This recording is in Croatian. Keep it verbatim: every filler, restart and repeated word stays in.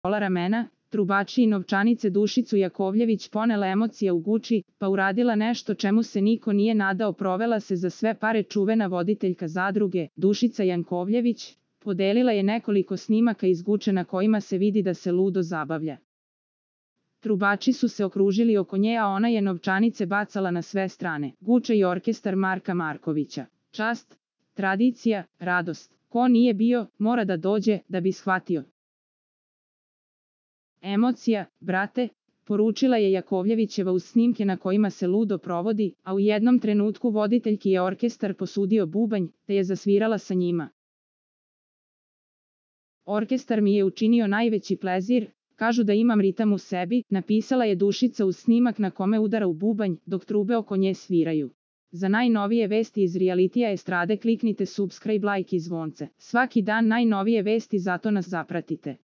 pola ramena, trubači i novčanice Dušicu Jakovljević ponela emocija u Guči, pa uradila nešto čemu se niko nije nadao, provela se za sve pare. Čuvena voditeljka zadruge, Dušica Jankovljević, podelila je nekoliko snimaka iz Guče na kojima se vidi da se ludo zabavlja. Trubači su se okružili oko nje, a ona je novčanice bacala na sve strane. Guča i orkestar Marka Markovića. Čast, tradicija, radost. Ko nije bio, mora da dođe, da bi shvatio. Emocija, brate, poručila je Jakovljevićeva uz snimke na kojima se ludo provodi, a u jednom trenutku voditeljki je orkestar posudio bubanj, te je zasvirala sa njima. Orkestar mi je učinio najveći plezir, kažu da imam ritam u sebi, napisala je Dušica uz snimak na kome udara u bubanj, dok trube oko nje sviraju. Za najnovije vesti iz realitija estrade kliknite subscribe, like i zvonce. Svaki dan najnovije vesti, zato nas zapratite.